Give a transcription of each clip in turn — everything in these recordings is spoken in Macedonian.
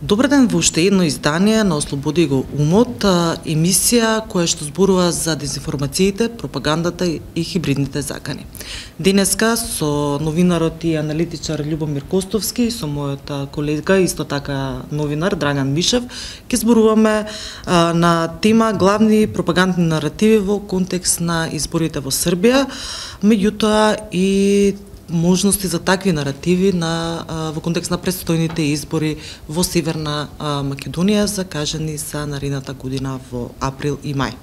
Добар ден во уште едно издание на Ослободи го умот, емисија која што зборува за дезинформациите, пропагандата и хибридните закани. Денеска со новинарот и аналитичар Љубомир Костовски, со мојот колега, исто така новинар Драњан Мишев, ќе зборуваме на тема главни пропагандни наративи во контекст на изборите во Србија, меѓутоа и можности за такви наративи во контекст на предстојните избори во Северна Македонија, закажани за наредната година во април и мај.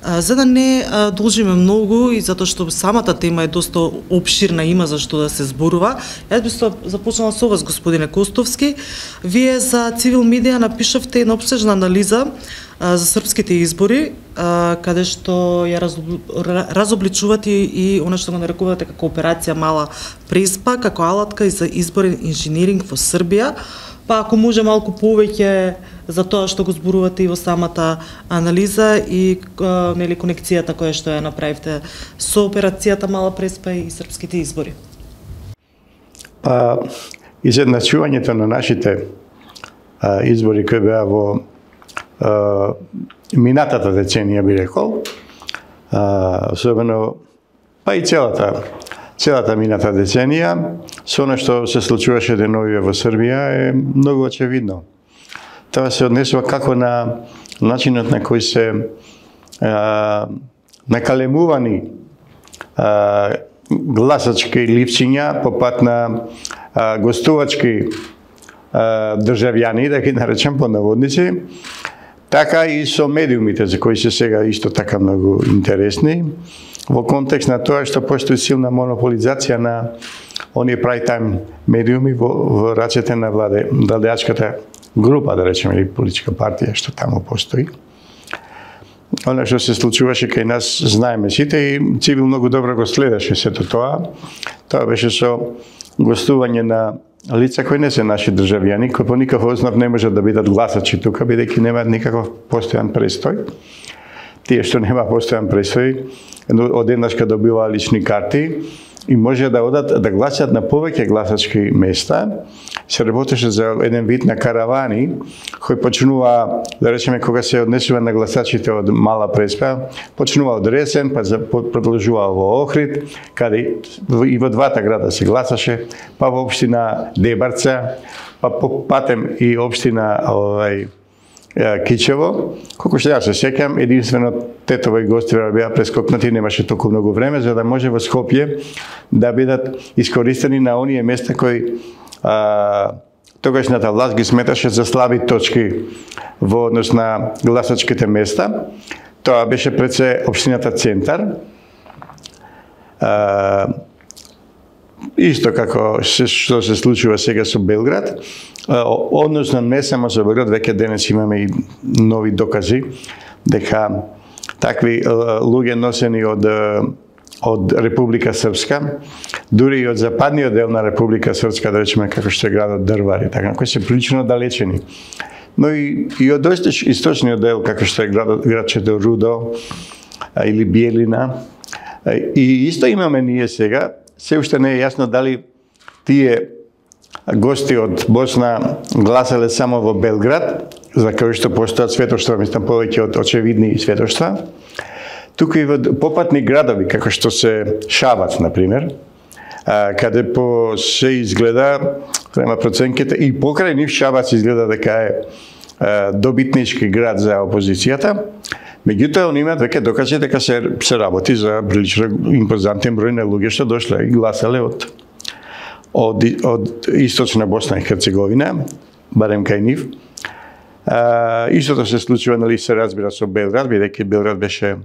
За да не должиме многу и затоа што самата тема е доста опширна, има за што да се зборува, јас би започнала со вас, господине Костовски. Вие за Цивил медија напишавте една опсежна анализа за српските избори, каде што ја разобличувате и она што го нарекувате како операција Мала преспа, како алатка и за изборен инженеринг во Србија. Па ако може малку повеќе за тоа што го зборувате и во самата анализа и нели конекцијата која што ја направивте со операцијата Мала преспа и српските избори. Па изедначувањето на нашите избори кои беа во минатата деценија, би рекол, особено па и целата мината деценија, со она што се случуваше деновиве во Србија е многу очевидно. Тоа се однесува како на начинот на кој се накалемувани гласачки ливчиња по пат на гостувачки државјани, да ги наречам по наводници, така и со медиумите, за кои се сега исто така многу интересни, во контекст на тоа што постои силна монополизација на оние прайм медиуми во рацете на владеачката група, да речеме, или политичка партија што таму постои. Она што се случуваше кај нас знаеме сите и Цивил многу добро го следеше сето тоа. Тоа беше со гостување на лица кои не се наши државјани, кои по никаков основ не можат да бидат гласачи тука, бидејќи немаат никаков постојан престој. Тие што нема постојан престој, одеднаш кога добиваа лични карти и може да одат да гласат на повеќе гласачки места. Се работеше за еден вид на каравани кои почнува, да речеме, кога се однесува на гласачите од Мала преспа, почнува од Ресен, па продолжува во Охрид, каде и во двата града се гласаше, па во општина Дебарца, па патем и општина Кичево. Колку што јас се сеќам, единствено тетово и гостиве беа прескокнати, немаше толку многу време за да може во Скопје да бидат искористени на оние места кои тогашната власт ги сметаше за слаби точки во однос на гласачките места. Тоа беше пред се општината Центар. Исто како што се случува сега со Белград, односно не само со Белград, веќе денес имаме и нови докази дека такви луѓе носени од Република Српска, дури и од западниот дел на Република Српска, да речеме како што е градот Дрвари, така, кои се прилично далечени. Но и од источниот дел, како што е градчето Рудо или Биелина. И исто имаме ние сега, се уште не е јасно дали тие гости од Босна гласале само во Белград, за кои што постојат светоштва, мислам повеќе од очевидни светоштва, тука и во попатни градови, како што се Шабац, например, каде по се изгледа, према проценките, и покрај нив Шабац изгледа дека е добитнички град за опозицијата, меѓутоа они имаат веќе докази дека се работи за прилично импозантен број на луѓе што дошле и гласале од источна Босна и Херцеговина, барем кај нив. Истото се случува, нали, се разбира со Белград, бидејќи Белград беше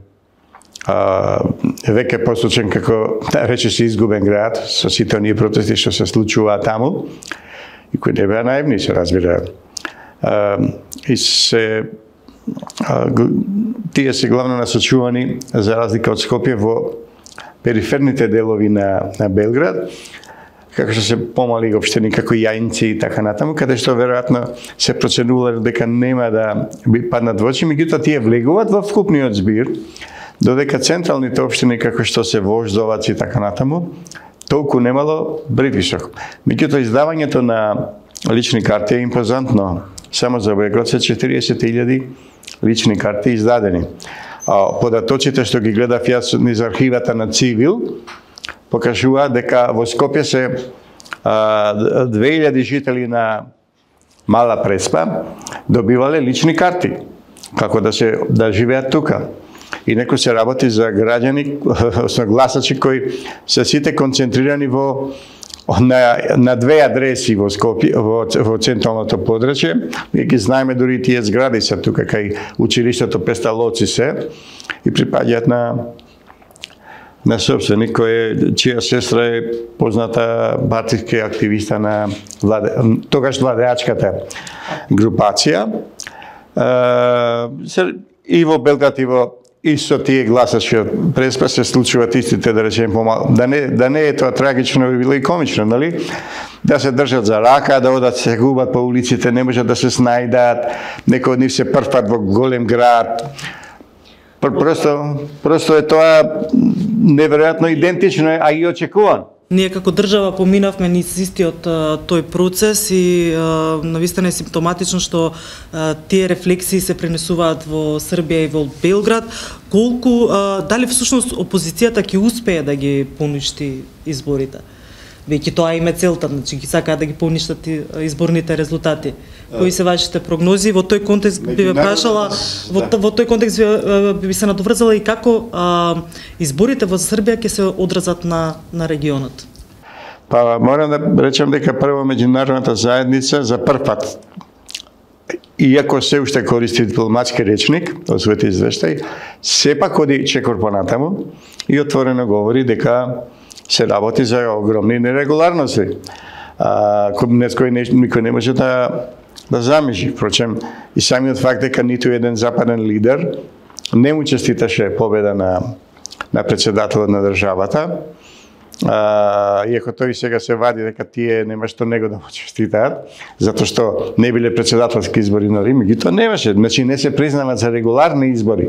веќе посочен како, да рече се, изгубен град со сите оние протести што се случуваа таму и кои не беа наивни, се разбира. И тие се главно насочувани, за разлика од Скопје, во периферните делови на Белград, како што се помали општини како Јајинци и така натаму, каде што веројатно се проценувале дека нема да паднат во очи, меѓутоа тие влегуваат во вкупниот збир, додека централните општини како што се Вождовац и така натаму, толку немало притисок. Меѓутоа издавањето на лични карти е импозантно. Само за Белград се 40.000 лични карти издадени. Податоците што ги гледав јас низ архивата на Цивил покажува дека во Скопје се 2000 жители на Мала Преспа добивале лични карти како да живеат тука. И некој се работи за граѓани, гласачи кои се сите концентрирани на две адреси во Скопје, во централното подрачје. И ги знаеме дури тие згради се тука кај училиштето Песталоци се и припаѓаат на собственик чија сестра е позната партиска активиста на тогаш владеачката групација. И во Белград и во исто тие гласачи од Преспа се случуваат истите, да речем, помало. Да не е тоа трагично, би било и комично, нали? Да се држат за рака, да одат се губат по улиците, не можат да се снајдат, некои од нив се прфат во голем град. Просто е тоа неверојатно идентично, а и очекувано. Ние како држава поминавме низ истиот тој процес и навистина е симптоматично што тие рефлексии се пренесуваат во Србија и во Белград. Дали всушност опозицијата ќе успее да ги поништи изборите? Веќе тоа им е целта, значи ги сакаат да ги поништат изборните резултати. Кои се вашите прогнози? Во тој контекст би ве прашала, во тој контекст би се надоврзала и како изборите во Србија ќе се одразат на регионот? Па морам да речем дека прво меѓународната заедница за прв пат, иако се уште користи дипломатски речник од својот извештај, сепак оди чекор понатаму и отворено говори дека се работи за огромни нерегуларности, никој не може да замижи. Впрочем, и самиот факт дека ниту еден западен лидер не му честиташе победа на председателот на државата, иако тој сега се вади дека тие нема што него да му честитаат, затоа што не биле председателски избори на Рим, и тоа немаше, значи не се признаваат за регуларни избори.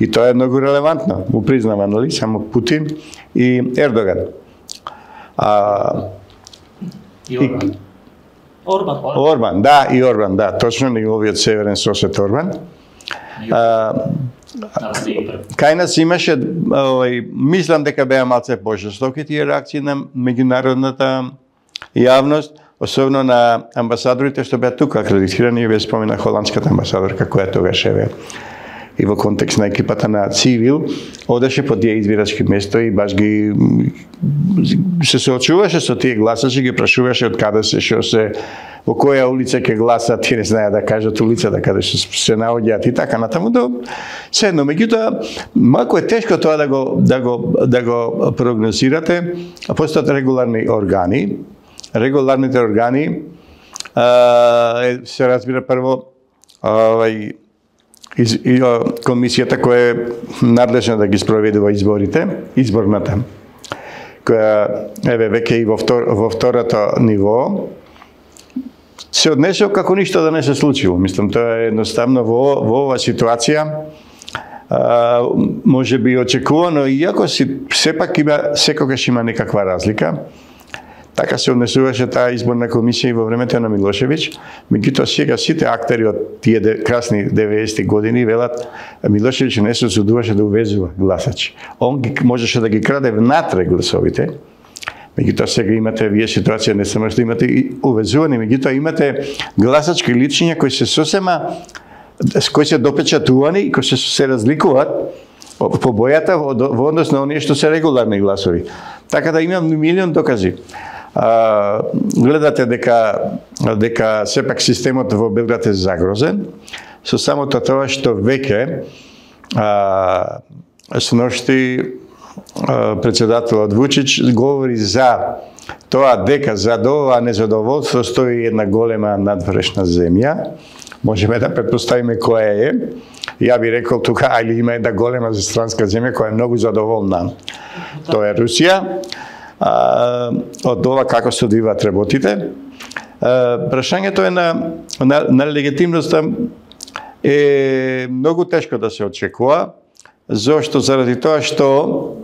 И тоа е многу релевантно, му признава, нали, само Путин и Ердоган. Орбан, да, точно, неговиот северен сосед Орбан. Кај нас имаше, мислам дека беа малце пожестоки тие реакции на меѓународната јавност, особено на амбасадорите што беа тука акредитирани, ве спомена холандската амбасадорка која тогаш е и во контекст на екипата на Цивил, одеше по тие избирачки место и баш ги се соочуваше со тие гласачи, ги прашуваше од каде се, што се, во која улица ќе гласат, тие не знаеа да кажат улицата каде се наоѓаат и така натаму до седно. Меѓутоа, малку е тешко тоа да го прогнозирате, а постојат регуларни органи. Регуларните органи се разбира прво комисијата која е надлежна да ги спроведува изборите, изборната, која веќе и во второто ниво, се однесува како ништо да не се случило. Мислам, тоа е едноставно во оваа ситуација може би очекувано, иако сепак секогаш има некаква разлика. Така се однесуваше таа изборна комисија и во времето на Милошевиќ. Меѓутоа сега сите актери од тие красни 90-ти години велат Милошевиќ не се осудуваше да увезува гласачи. Он можеше да ги краде внатре гласовите. Меѓутоа сега имате вие ситуација не само што имате и увезувани, меѓутоа имате гласачки личиња кои се сосема кои се допечатувани и кои се разликуваат по бојата во однос на оние што се регуларни гласови. Така да имам милион докази. Гледате дека сепак системот во Белград е загрозен, со самото тоа што веќе сношти председателот Вучич говори за тоа дека за ова незадоволство стои една голема надврешна земја. Можеме да предпоставиме која е. Ја би рекол тука, али има една голема странска земја која е многу задоволна. Тоа е Русија. Од ова како се одвиваат работите. Прашањето е на легитимноста е многу тешко да се очекува. Зошто? Заради тоа што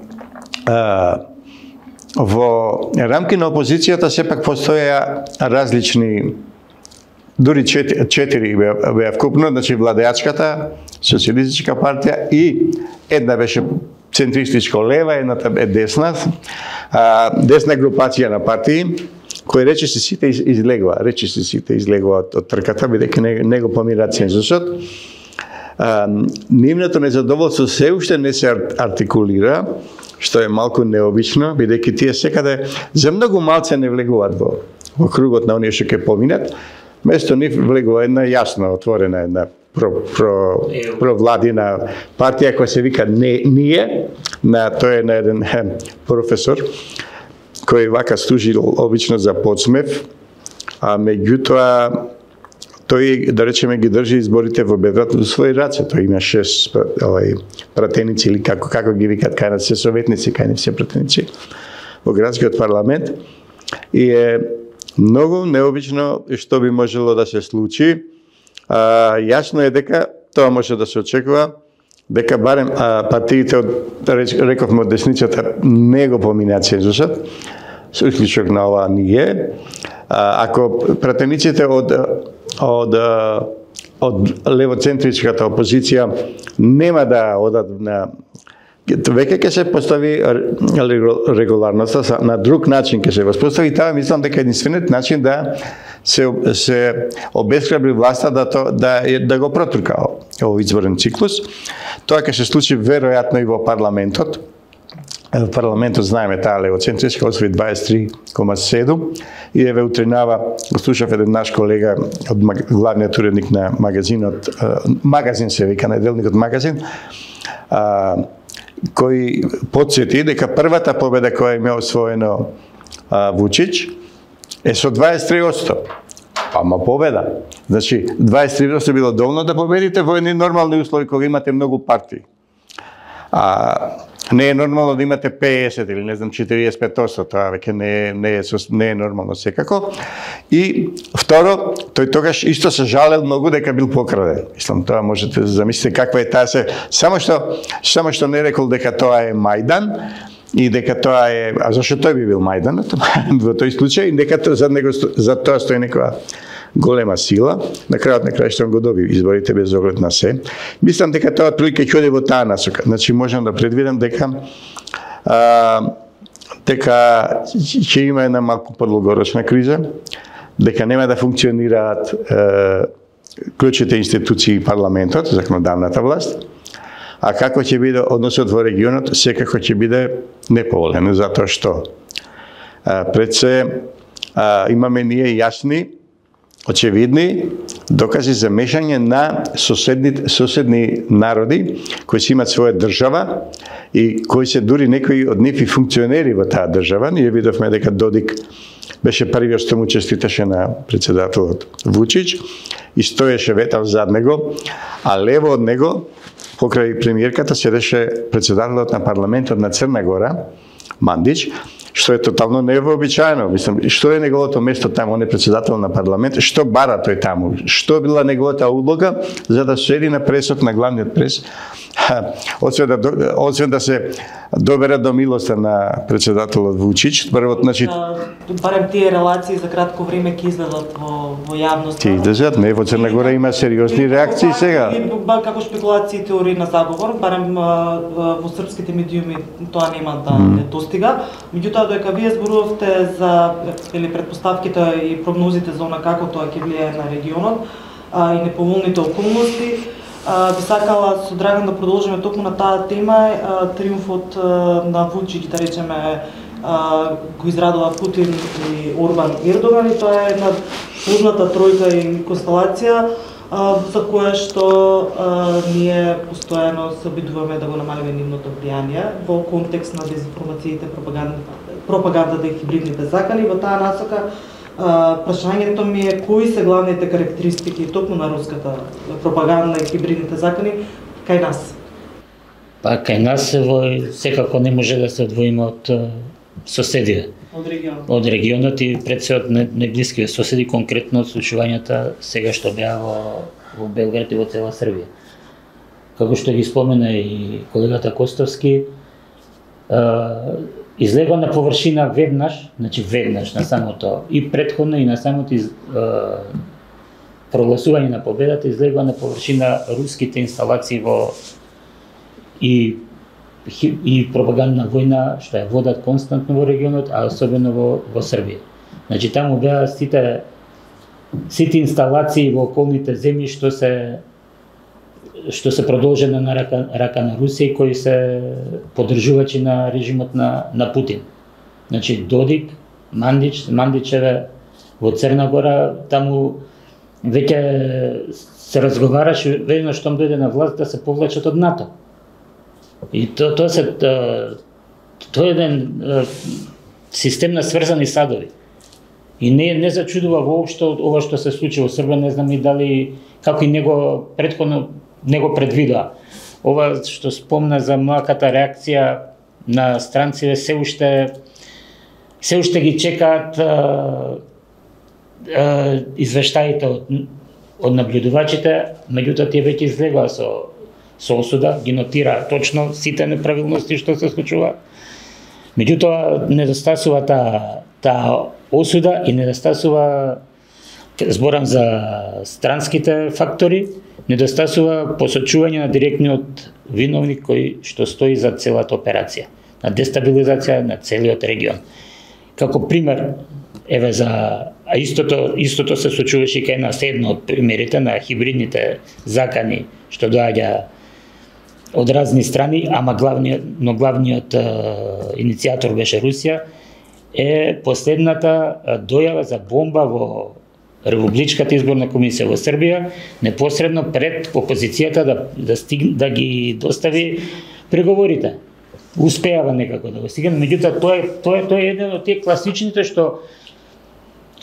во рамки на опозицијата сепак постоја различни дури 4 беа вкупно, значи владеачката социјалистичка партија и една беше центристичко лева, едната е десна, десна групација на партии, кои речиси сите излегува од трката, бидејќи не го помира цензусот. Нивното незадоволство се уште не се артикулира, што е малку необично, бидејќи тие секаде за многу малце не влегуваат во кругот на оние што ќе поминат. Место нив влегува една јасно отворена една провладина партија која се вика Ние, тој е на еден професор кој вака служи обично за подсмев, а меѓутоа тој, да речеме, ги држи изборите во Белград во своји раце. Тој има 6 пратеници или како ги викат кај нас, се советници, кај не се пратеници во градскиот парламент. И е многу необично што би можело да се случи. Јасно е дека тоа може да се очекува, дека барем партиите рековме од десницата не го поминат цензусот, со исклучок на ова Ние. Ако пратениците од левоцентричката опозиција нема да одат на веќе ќе се постави регуларноста на друг начин ќе се воспостави, таа мислам дека единствениот начин да се обесхрабри власта да го протурка овој изборен циклус. Тоа ќе се случи веројатно и во парламентот. В парламентот знаеме таа левоцентричка освои 23,7 и еве утринава го слушав еден наш колега од главниот уредник на магазинот, магазин се вика, неделникот Магазин, кој потсети дека првата победа која има освоено Вучич е со 23%. Ама победа. Значи, 23% било доволно да победите во едни нормални услови кога имате многу партии. Не е нормално да имате 50 или не знам 45%, тоа веќе не е нормално секако. И второ, тој тогаш исто се жалел многу дека бил покраден. Мислам, тоа можете да замислите каква е таа се, само што не рекол дека тоа е Мајдан и дека тоа е, а зашто тој би бил Мајдан во тој случај, дека за тоа стои некоја голема сила, на крајот на крајот го доби изборите без оглед на се. Мислам дека тоа отприлike ќе оди во таа насока. Значи можам да предвидам дека ќе има една малку подлогорочна криза, дека нема да функционираат клучните институции и парламентот, законодавната власт, а како ќе биде односот во регионот, секако ќе биде неповолен, затоа што пред се имаме ние јасни, очевидни докази за мешање на соседни народи кои си имат своја држава и кои се дури некои од нив и функционери во таа држава. Ние видовме дека Додик беше првиот што му честиташе на председателот Вучич и стоеше ветав зад него, а лево од него, покрај премиерката, седеше председателот на парламентот на Црна Гора, Мандич, што е тотално невообичаено. Мислам, што е неговото место таму, он е председател на парламент, што бара тој таму, што била неговата улога за да седи на пресот, на главниот прес, освен да се добера до милоста на председателот Вучич. Првот, значи, барем тие релации за кратко време ќе излезат во јавност. Ќе излезат, не, во Црна Гора има сериозни реакции сега. Како шпекулации и теории на заговор, барем во српските медиуми тоа нема да не достига. Меѓутоа, додека вие зборувавте за предпоставките и прогнозите за она како тоа ќе влијае на регионот и неповолните околности, би сакала со Драган да продолжиме токму на таа тема. Триумфот на Вучич, да речеме, го израдува Путин и Орбан Ердоган, и тоа е една позната тројка и констелација за кое што ние постојано се обидуваме да го намалиме нивното влијание во контекст на дезинформациите, пропагандата и хибридните закани. Во таа насока прашањето ми е кои се главните карактеристики токму на руската пропаганда и хибридните закани кај нас? Па кај нас секако не може да се одвоиме од соседите. Од регионот и пред се од неблиските соседи, конкретно од случувањата сега што беа во Белград и во цела Србија. Како што ги спомена и колегата Костовски, излегува на површина веднаш на самото и претходно и на самото прогласување на победата излегува на површина руските инсталации и пропагандна војна што ја водат константно во регионот, а особено во Србија. Значи таму беа сите инсталации во околните земји што се продолжена на рака на Русија, кои се поддржувачи на режимот на Путин. Значи Додик, Мандичеве во Црна Гора, таму веќе се разговараше веднаш штом дојде на власт да се повлачат од НАТО. И тоа е еден систем на сврзани садови. И не зачудува воопшто ова што се случи во Србија, не знам и дали како и него претходно него предвидоа. Ова што спомна за млаката реакција на странците се уште ги чекаат извештаите од наблюдувачите, меѓутоа тие веќе излегоа со осуда, ги нотира точно сите неправилности што се случува. Меѓутоа недостасува таа осуда и недостасува, зборам за странските фактори, недостасува посочување на директниот виновник кој што стои за целата операција, на дестабилизација на целиот регион. Како пример, еве а истото се случуваше и кај нас едно од примерите на хибридните закани што доаѓа од разни страни, ама главниот иницијатор беше Русија, е последната дојава за бомба во Републичката изборна комисија во Србија, непосредно пред опозицијата да ги достави преговорите. Успеава некако да го стигне, меѓутоа тоа е еден од тие класичните што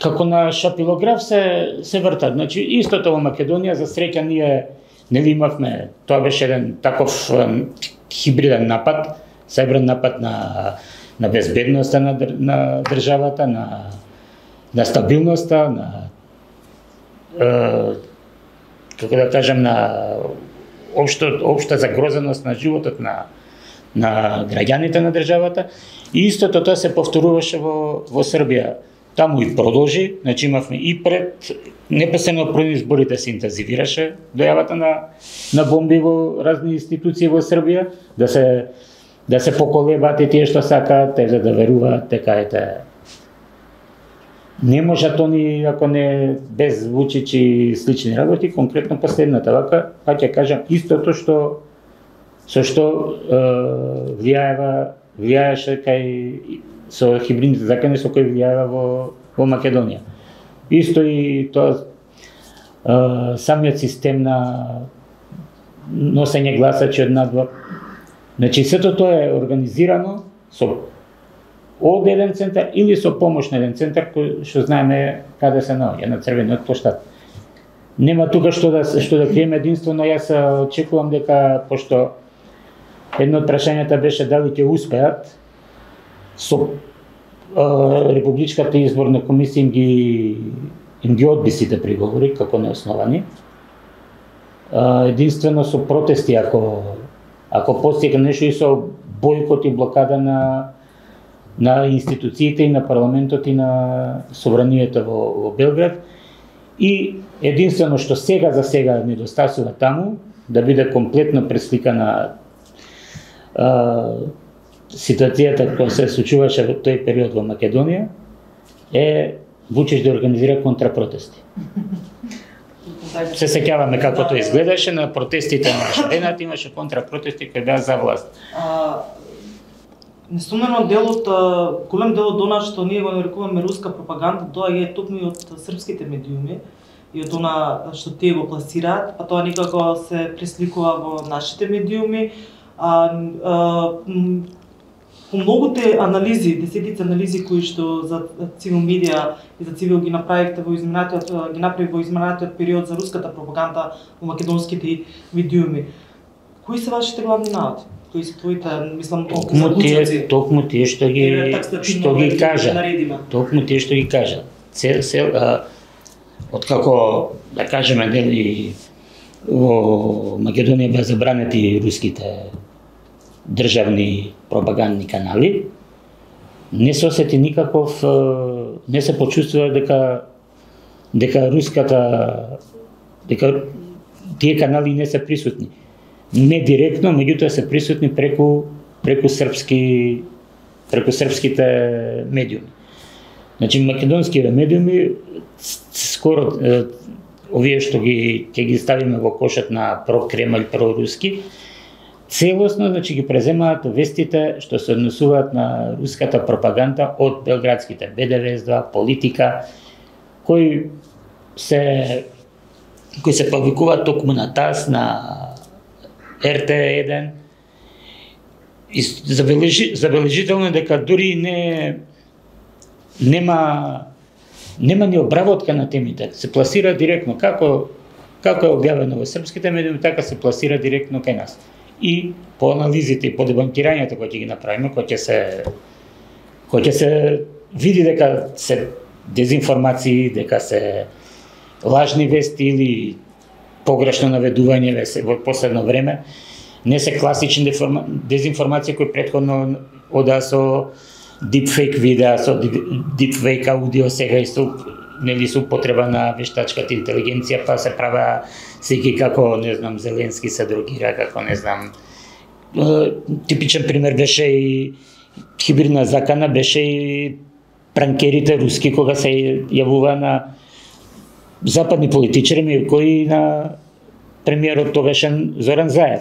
како на шапилограф се вртат. Значи истото во Македонија, за среќа ние нели имавме, тоа беше еден таков хибриден напад, сајбрен напад на безбедноста на државата, на стабилноста, на како да кажам, на општа загрозеност на животот на граѓаните на државата. И истото тоа се повторуваше во Србија. Таму и продолжи, значи имавме и непосредно пред изборите се интензивираше дојавата на бомби во разни институции во Србија, да се поколебаат и тие што сакаат, да веруваат дека не можат они, ако не без Вучич и слични работи, конкретно последната вака, па ќе кажам истото со што влијаеше со хибридните закони со кои влијава во Македонија. Исто и тоа самиот систем на носење гласачи од надвор. Значи сето тоа е организирано од еден центар или со помош на еден центар кој што знаеме каде се наоѓа, на Црвениот плоштад. Нема тука што да криеме, единствено јас очекувам дека, пошто едно од прашањата беше дали ќе успеат со Републичката изборна комисија им ги одби сите приговори како неосновани. Единствено со протести, ако постигне нешто, и со бойкот и блокада на институциите и на парламентот и на собранието во Белград. И единствено што за сега недостасува таму, да биде комплетно пресликана ситуацијата која се случуваше во тој период во Македонија, е Вучич да организира контрапротести. Се сеќаваме како тоа изгледаше на протестите на Шаренат, имаше контрапротести кои беа за власт. Несумнено голем дел од она што ние го нарекуваме руска пропаганда, тоа е токму и од српските медиуми и од она што тие го пласираат, па тоа некако се пресликува во нашите медиуми. По многуте анализи, десетици анализи кои што за Цивил медија и за Цивил ги направи во изминатиот период за руската пропаганда во македонските медиуми. Кои се вашите главни наводи? Кои се твоите, мислам, заклучоци? Токму тие што ги кажа. Токму тие што ги кажа. Откако, да кажеме, дели во Македонија беа забранети руските државни пропагандни канали, не се осети никаков, не се почувствува дека руската дека тие канали не се присутни. Не директно, меѓутоа се присутни преку српските медиуми. Значи македонските медиуми скоро овие што ќе ги ставиме во кошот на про-Кремљ, про-руски, целосно значи ги преземаат вестите што се однесуваат на руската пропаганда од белградските БДВ2, Политика, кои се публикуваат токму на ТАСС, на РТ1. И забележително е дека дури нема ни обработка на темите. Се пласира директно како е објавено во српските медиуми, така се пласира директно кај нас. И по анализите и по дебанкирањето кои ќе ги направиме, кои ќе се види дека се дезинформации, дека се лажни вести или погрешно наведување во последно време, не се класични дезинформации кои претходно одаа со дипфейк видеа, со дипфейк аудио, сега и со употреба на вештачката интелигенција, па се правеа секи како, не знам, Зеленски се дрогира, како, не знам. Типичен пример беше и хибридна закана, беше и пранкерите руски, кога се јавува на западни политичари, кои на премиерот тогашен Зоран Заев.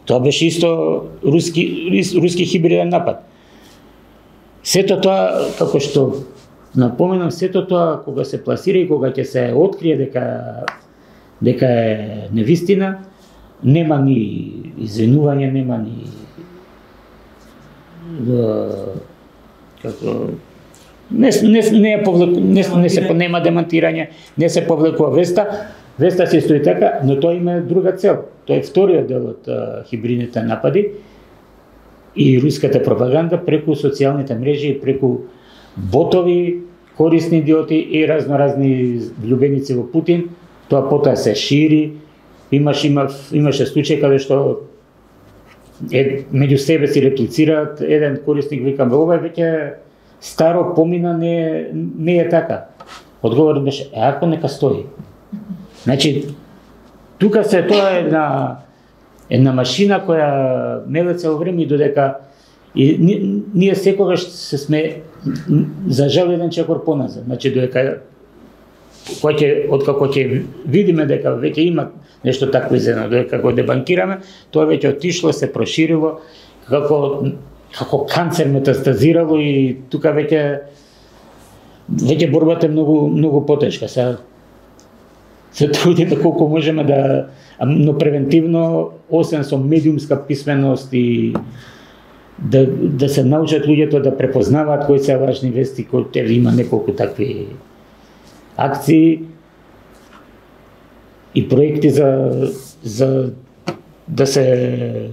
Тоа беше исто руски хибриден напад. Сето тоа, како што напоменам, сето тоа кога се пласира и кога ќе се открие дека е невистина, нема ни извинување, нема ни нема демантирање, не се повлекува веста се стои така, но тоа има друга цел. Тоа е вториот дел од хибридните напади и руската пропаганда преку социјалните мрежи и преку ботови, корисни идиоти и разноразни влюбеници во Путин. Тоа потоа се шири. Имаше случај каде што меѓу себе си реплицираат, еден корисник вика, ова е веќе старо, помина, не е така. Одговорот беше, ако нека стои. Значи, тука тоа е една машина која меле цело време и додека ние секогаш се сме за жал еден чекор поназад. Значи, додека откако ќе видиме дека веќе има нешто такво изедно, додека го дебанкираме, тоа веќе отишло, се проширило, како канцер метастазирало и тука веќе борбата е многу потешка. Се трудиме колку можеме но превентивно, освен со медиумска писменост и да се научат луѓето да препознаваат кои се важни вести, кои има неколку такви акции и проекти за да се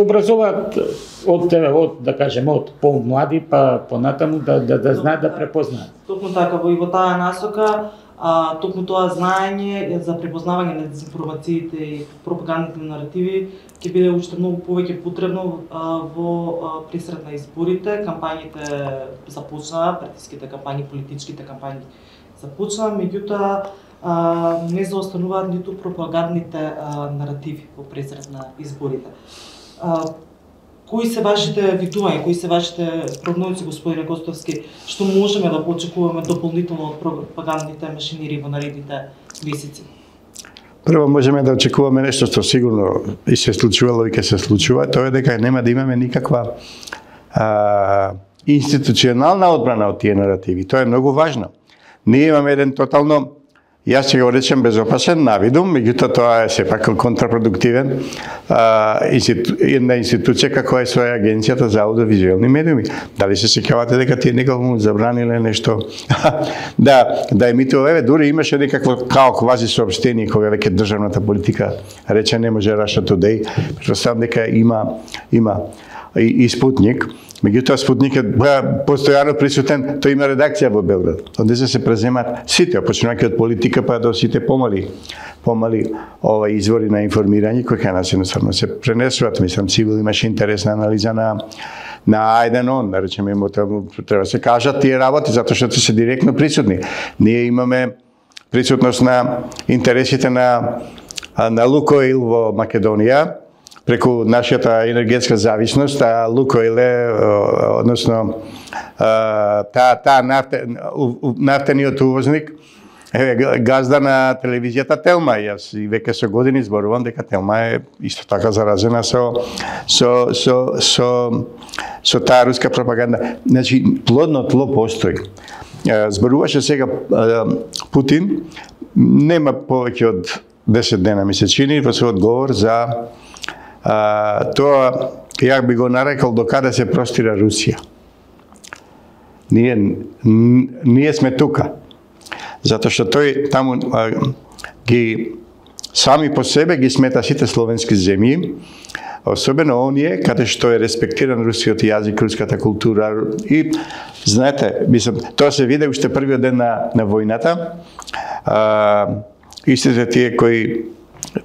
образуваат од да кажеме од помлади па понатаму да знаат да препознаат. Токму така, во таа насока, токму тоа знаење за препознавање на дезинформациите и пропагандните наративи ќе биде уште многу повеќе потребно во пресред на изборите. Кампањите започнаа, партиските кампањи, политичките кампањи започнаа, меѓутоа не заостануваат ниту пропагандните наративи во пресред на изборите. Кои се вашите видувања, кои се вашите прогнози, господине Костовски, што можеме да очекуваме дополнително од пропагандните машинири во наредните месеци? Прво можеме да очекуваме нешто што сигурно и се случувало и ќе се случува, тоа е дека нема да имаме никаква институционална одбрана од тие наративи. Тоа е многу важно. Ние имаме еден тотално, јас ќе го речем безопасен навидум, меѓутоа тоа е сепак контрапродуктивен една институција како е своја агенцијата за аудиовизуелни медиуми. Дали се сеќавате дека тие некако забраниле нешто да емитува, дури имаше некакво као квази соопштение кога веќе државната политика рече не може Russia Today, претпоставам дека има и Спутник. Меѓутоа Спутник е постојано присутен, тој има редакција во Белград. Онде се преземаат сите, почнувајќи од политика па до сите помали извори на информирање кои кај нас едноставно се пренесуваат. Мислам, Цивил имаше интересна анализа на Ајден, да речеме, треба се кажат тие работи затоа што се директно присутни. Ние имаме присутност на интересите на Лукойл во Македонија, преку нашата енергетска зависност, а Лукойл е, односно, таа нафтениот увозник, газда на телевизијата Телма. Јас и веќе со години зборувам дека Телма е исто така заразена со таа руска пропаганда. Значи, плодно тло постои. Зборуваше сега Путин, нема повеќе од 10 дена ми се чини во својот говор за тоа, ја би го нарекол до каде се простира Русија. Ние сме тука. Затоа што тој таму ги сами по себе ги смета сите словенски земји, особено оние каде што е респектиран рускиот јазик, руската култура. И знаете, мислам, тоа се виде уште првиот ден на војната. Истите тие кои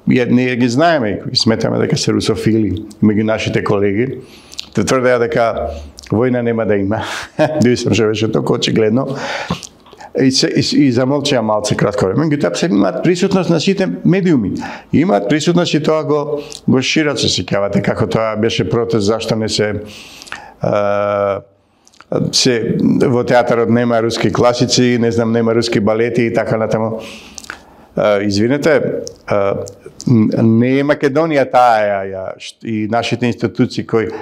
ние ги знаеме, кои сметаме дека се русофили меѓу нашите колеги, те тврдеа дека војна нема да има. Мислам што беше толку очигледно. И замолчаа малце кратко време, меѓутоа се имаат присутност на сите медиуми. Имаат присутност и тоа го шират, се сеќавате како тоа беше протест зашто не се во театарот нема руски класици, не знам, нема руски балети и така натаму. Извинете, не е Македонија таа и нашите институции кои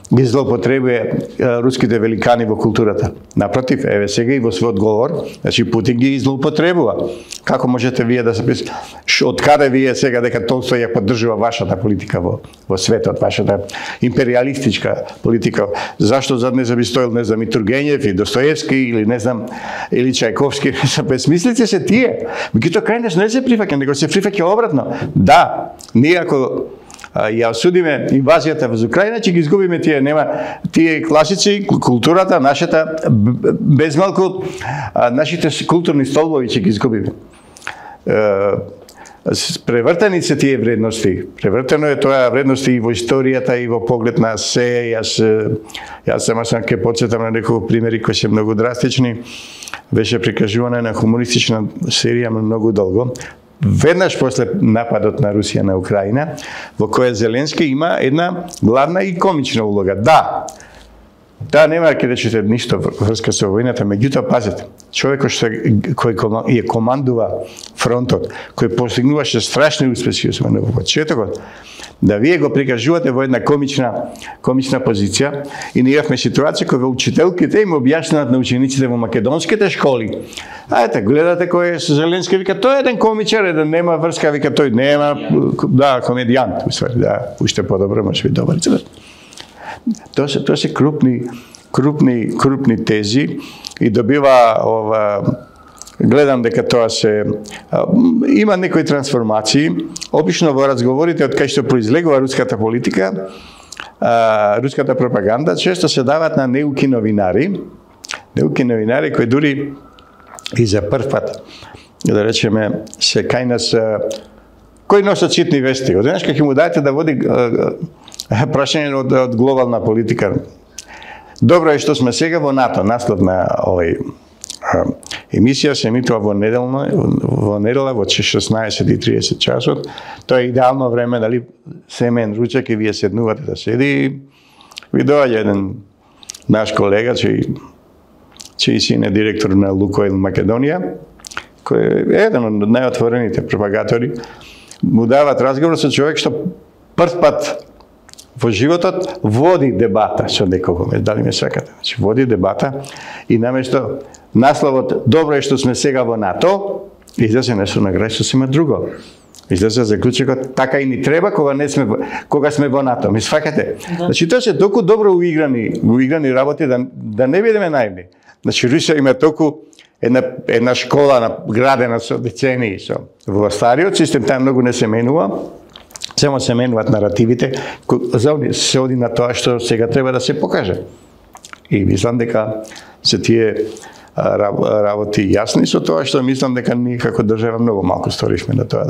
ги злоупотребува руските великани во културата. Напротив, еве сега и во својот говор, значи Путин ги злоупотребува. Како можете вие да се од каде вие сега дека Толстој ја поддржува вашата политика во светот, вашата империалистичка политика? Зашто зад не би стоел, не знам, и Тургенев, и Достоевски, или не знам, или Чајковски? Безмислици се тие. Меѓутоа крајнаш не се прифаќа, него се прифаќа обратно. Да, ние ако ја осудиме инвазијата во Украина, ќе ги изгубиме тие класици, културата, нашата, без малку, нашите културни столбови ќе ги изгубиме. Превртени се тие вредности. Превртено е тоа вредности и во историјата, и во поглед на се. Јас сама ќе подсетам на неколку примери кои се многу драстични. Беше прикажувана на хумористична серија многу долго. Веднаш после нападот на Русија на Украина, во која Зеленски има една главна и комична улога. Да, нема ќе речете ништо врска со војната, меѓутоа пазете, човекот кој ја командува фронтот, кој постигнуваше страшни успеси во почетокот, да вие го прикажувате во една комична позиција, и ние имавме ситуација кога учителките им објаснуваат на учениците во македонските школи. Ајте, гледате кој е Зеленски, вика, тој е еден комичар, еден нема врска, вика, тој нема, да, комедијант, уствари, да, уште подобро, може би добар. Тоа се крупни тези и добива гледам дека тоа има некои трансформации. Обично во разговорите од кај што произлегува руската политика, руската пропаганда, често се дават на неуки новинари кои дури и за прв пат, да речеме, се кај нас, кои носат ситни вести. Одеднаш ќе му дадете да води прашање од глобална политика. Добро е што сме сега во НАТО, наслов на овој емисија се емитува во недела во 16:30 часот. Тоа е идеално време, дали семен ручек и вие седнувате да седи. Ви доаѓа еден наш колега, чиј син е директор на Лукойл Македонија, кој е еден од најотворените пропагатори. Му дават разговор со човек што прв пат во животот води дебата со некого, дали ме свекате. Значи, води дебата и наместо насловот "Добро е што сме сега во НАТО", излезе нешто на крај што се има друго. Излезе заклучокот "Така и ни треба кога сме во НАТО". Ми свекате. Да. Значи, тоа се толку добро уиграни работи да не бидеме наивни. Значи, Русија има толку една школа градена со децении во стариот систем, таа многу не се менува. Само се менуваат наративите, се оди на тоа што сега треба да се покаже. И мислам дека се тие работи јасни со тоа што мислам дека ние како држава многу малку сторивме на тоа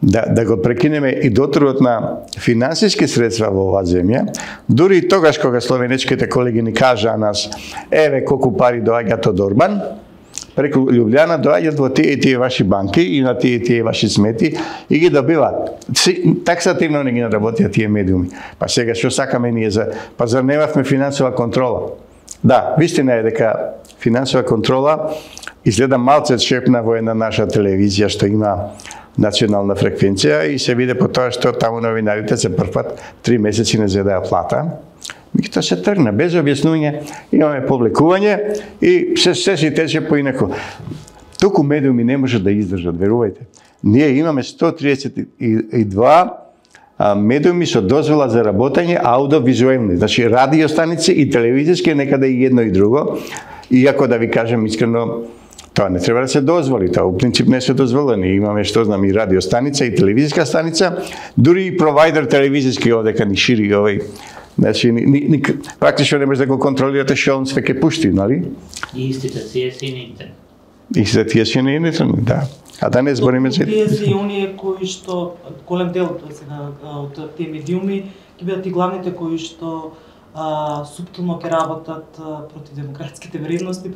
да го прекинеме и дотргот на финансиски средства во оваа земја, дури и тогаш кога словенечките колеги ни кажаа нас, еве колку пари доаѓаат од Орбан, преку Љубљана доаѓаат во тие ваши банки и на тие ваши смети и ги добиваат. Таксативно не ги наработија тие медиуми. Па сега што сакаме ние па зар немавме финансова контрола? Да, вистина е дека финансова контрола изгледа малце шепна во една наша телевизија што има национална фреквенција и се виде по тоа што таму новинарите се првпат 3 месеци не зедаа плата. Меѓутоа се тргна без објаснување, имаме публикување и се си тече поинаку. Туку медиуми не може да издржат, верувајте. Ние имаме 132 медиуми со дозвола за работење аудиовизуелни, значи радиостаници и телевизиски, некаде и едно и друго. Иако да ви кажем искрено, тоа не треба да се дозволи, тоа у принцип не се дозволени. Имаме што знам и радиостаница и телевизиска станица, дури и провайдер телевизиски овдека ни шири овој. Значи, практично не може да го контролирате што он све ке пушти, нали? И истите тие си на интернет. Истите тие си на интернет, да. А да не збориме за... Тие си оние кои што, голем дел од тие медиуми, ќе бидат и главните кои што суптилно ќе работат против демократските вредности,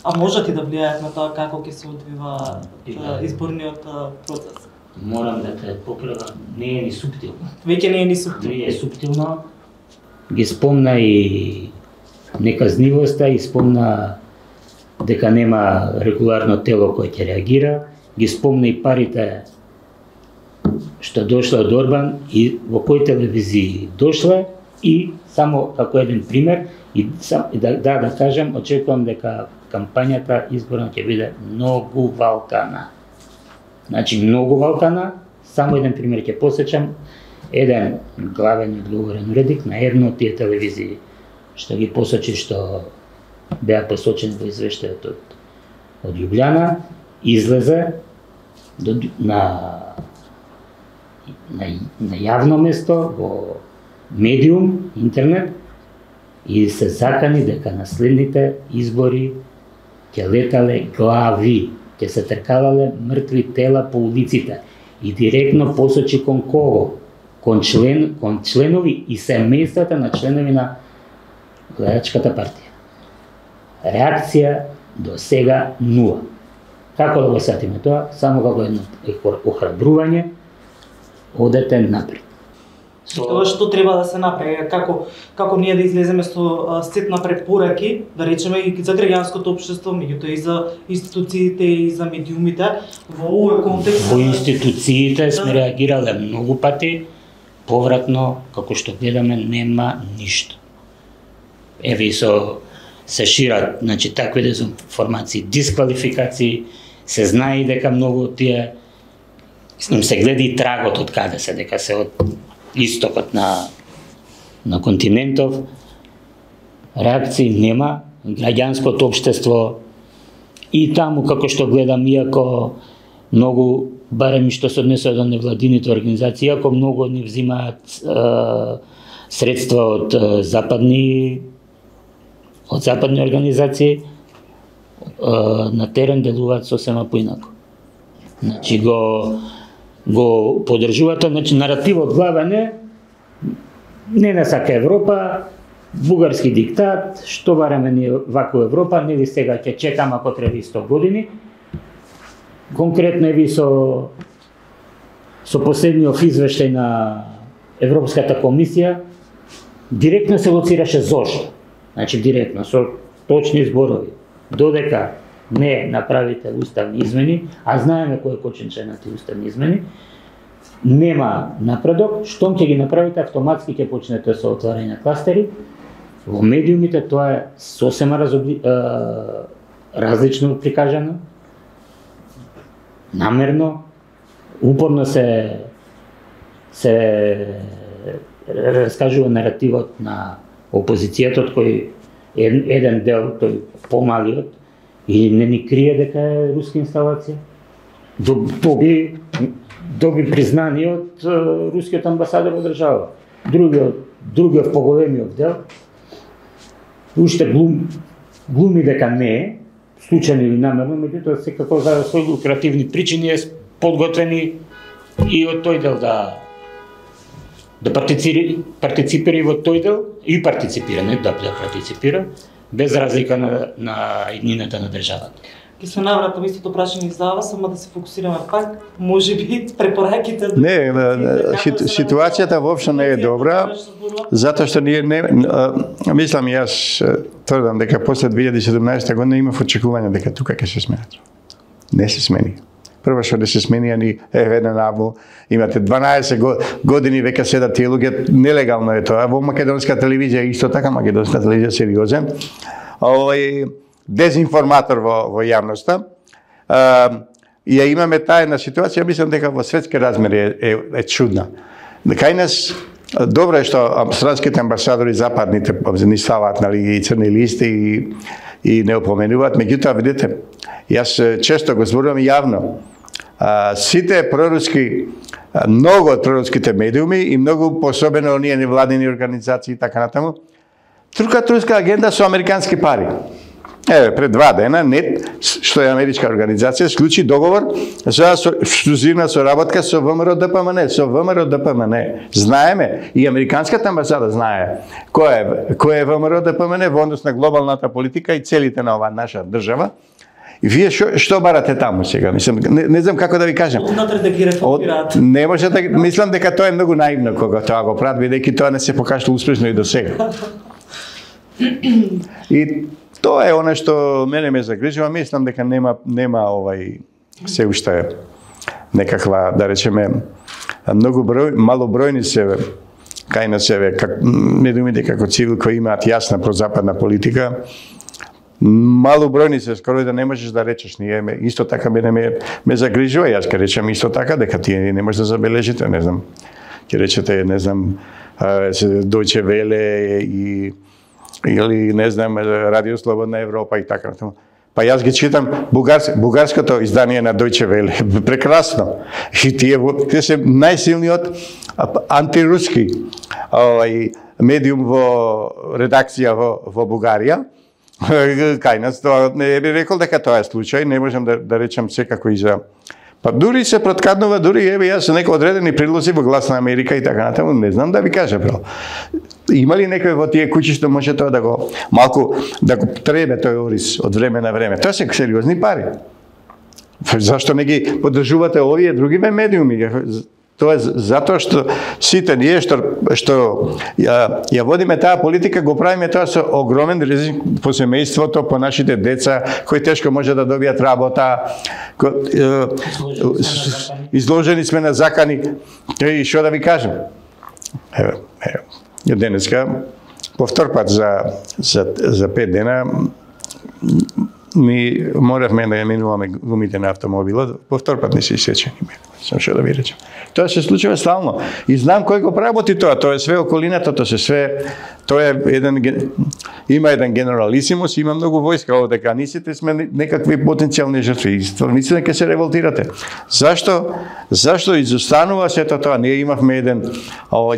а можат и да влијаат на тоа како ќе се одвива изборниот процес. Морам да те поправам, не е ни суптилно. Веќе не е ни суптилно. Не е суптилно. Ги спомна и неказнивоста, и спомна дека нема регуларно тело кој ќе реагира, ги спомна и парите што дошла од Орбан и во кои телевизии дошла, и само како еден пример, и да кажем, очекувам дека кампањата изборна ќе биде многу валкана. Значи, многу валкана, само еден пример ќе посечам, еден главен и одговорен уредник на една од тие телевизии, што ги посочи што беа посочени во извештајот од Љубљана, излезе на јавно место, во медиум, интернет, и се закани дека на следните избори ќе летале глави, ќе се тркалале мртви тела по улиците и директно посочи кон кого? Кон членови и семејствата на членови на гледачката партија. Реакција до сега нула. Како да го сетиме тоа? Само како едно охрабрување, одете напред. Тоа што треба да се направи, како ние да излеземе со сет на препораки, да речеме и за граѓанското општество, меѓутоа и за институциите и за медиумите, во овој контекст. Во институциите сме реагирале многу пати, повратно, како што гледаме, нема ништо. Еве и се шират, значи, такви дезинформации, дисквалификации, се знае дека многу од тие, им се гледа и трагот од каде се, дека се од истокот на континентов. Реакции нема, граѓанското општество и таму, како што гледам, иако многу, барем и што се однесува до невладините организации, иако многу од нив взимаат средства од западни организации, на терен делуваат сосема поинако. Значи го поддржуваат, значи наративот главен е не на сака Европа, бугарски диктат, што бараме ние вако Европа, нели сега ќе чекам ако треба 100 години. Конкретно е со последниот извештај на Европската комисија, директно се лоцираше зошто. Значи директно, со точни зборови. Додека не направите уставни измени, а знаеме кој е коченче на тие уставни измени, нема напредок, штом ќе ги направите, автоматски ќе почнете со отварање на кластери. Во медиумите тоа е сосема различно прикажано, намерно, упорно се раскажува наративот на опозицијата, кој еден дел, тој помалиот, и не ни крие дека е руска инсталација. Доби признание од рускиот амбасадор во држава. Другиот поголемиот дел, уште глуми дека не е, случајно или намерно, меѓутоа секако за своји лукративни причини е подготвени и од тој дел да партиципира и во тој дел, и партиципира, не да партиципира, без разлика на иднината на државата. Ке се навратам истото прашање за вас, само да се фокусираме пак, можеби препораките. Не, ситуацијата воопшто не е добра, затоа што ние не мислам јас тврдам дека после 2017 година имав очекување дека тука ќе се сменат. Не се смени. Прво што да се смени, ни еден наву, имате 12 години веќе седат тие луѓе, нелегално е тоа. Во македонска телевизија исто така, македонска телевизија сериозен. Дезинформатор во јавноста. Ја имаме таа една ситуација, мислам дека во светски размери е чудна. Кај нас добро е што странските амбасадори западните ни ставаат и црни листи и не опоменуваат, меѓутоа видите, јас често го зборувам јавно. Сите проруски, многу од проруските медиуми и многу посебено оние невладини организации и така натаму, трукат руска агенда со американски пари. Еве, пред 2 дена НЕТ, што е америчка организација, склучи договор за ексклузивна соработка со ВМРО ДПМН. Знаеме, и американската амбасада знае кој е ВМРО ДПМН во однос на глобалната политика и целите на оваа наша држава. И вие што барате таму сега? Мислам, не знам како да ви кажам. Однатре да ги реформираат. Не може да, мислам дека тоа е многу наивно кога тоа го прават, бидејќи тоа не се покажало успешно и до сега. И тоа е она што мене ме загрижува, мислам дека нема се уште некаква, да речеме, многу малобројни се кај на себе, медиумите како цивил кои имаат јасна прозападна политика, малобројни се, скоро да не можеш да речеш. Ние исто така ме загрижува, јас ќе речем исто така дека тие не можеш да забележите, не знам. Ќе речете, не знам, Deutsche Welle или не знам, Радио Слободна Европа и така натаму. Па јас ги читам бугарското издание на Deutsche Welle, прекрасно. И тие се најсилниот антируски медиум во редакција во Бугарија. Кај нас тоа не би рекол дека тоа е случај, не можам да речам секако и за. Па дури се проткаднува, дури еве јас со некои одредени прилози во Глас на Америка и така натаму, не знам да ви кажа бро. Има ли некој во тие куќи што може тоа да го малку да го требе тој ориз од време на време? Тоа се сериозни пари. Зашто не ги поддржувате овие другиве медиуми? Тоа е затоа што сите ние што ја водиме таа политика, го правиме тоа со огромен ризик по семејството, по нашите деца, кои тешко може да добијат работа, изложени сме на закани. И што да ви кажем? Еве, денеска, по втор пат за 5 дена, ми моравме да ја минуваме гумите на автомобилот, по втор пат не се исечени. Сам што да ви речем. Тоа се случува стално. И знам кој го работи тоа. Тоа е све околината, тоа е има еден генералисимус, има многу војска овде, нисите сме некакви потенцијални жртви. Мислам дека се револтирате. Зашто изостанува сето тоа? Ние имавме еден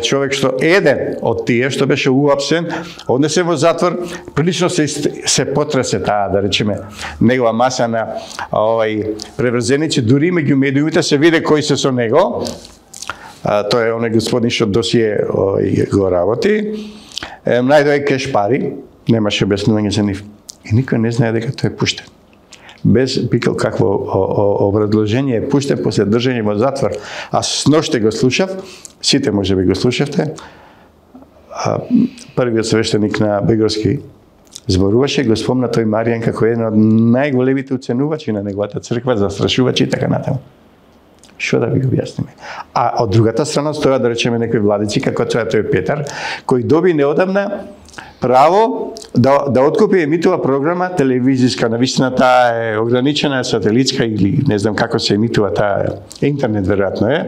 човек што еден од тие што беше уапсен, однесе во затвор, прилично се потресе таа, да речеме, негова маса на преврзеници, дури меѓу медиумите се виде кои се со него. Тоа е оној господин што досие го работи. Најдој кеш пари, немаше објаснување за нив. И никој не знае дека тој е пуштен. Без пикал какво образложение е пуштен после држање во затвор. А сноште го слушав, сите може би го слушавте, првиот свештеник на Бегорски зборуваше, го спомна тој Маријан како еден од најголемите уценувачи на неговата црква, застрашувачи и така натаму. Што да ви го објасниме? А од другата страна стоја, да речеме, некои владици, како тој Петар, кој доби неодамна право да откупи емитува програма телевизиска. Навистина таа е ограничена, сателитска или не знам како се емитува таа интернет, веројатно е,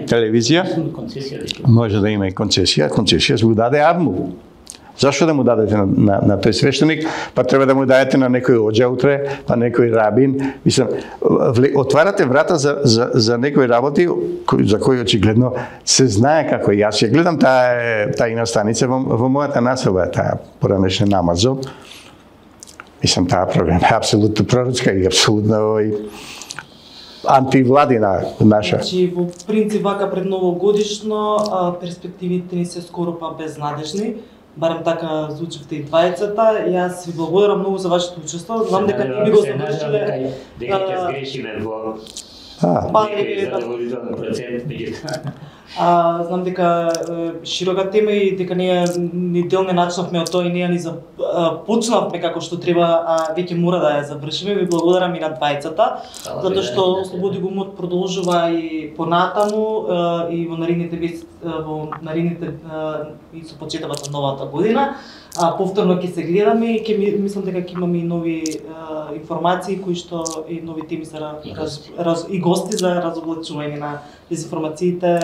телевизија. Може да има и концесија. Концесија се го даде АВМУ. Зашто да му дадете на тој свештеник? Па треба да му дадете на некој оџа утре, па некој рабин. Мислам, отварате врата за некои работи за кои очигледно се знае како. Јас ја гледам таа инастаница во мојата населба, таа поранешна Намазо. Мислам, таа програма е апсолутно пророцка и апсолутно антивладина наша. Значи, во принцип, вака пред новогодишно, перспективите ни се скоро па безнадежни. барем така звучевте и двајцата. Јас ви благодарам многу за вашето учество. Знам дека не би го завршиле. Дека ќе сгрешиме во некој задоволителен процент, меѓутоа. Знам дека широка тема и дека ние ни дел не начнавме од тоа и ние ни почнавме како што треба, а веќе мора да ја завршиме. Ви благодарам и на двајцата, затоа што Слободи го умот продолжува и понатаму и во наредните и со почетокот на новата година. Повторно ќе се гледаме и мислам дека ќе имаме и нови информации кои што и нови теми за и гости за разоблачување на дезинформациите,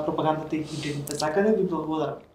пропагандата и хибридните закани. Ви благодарам.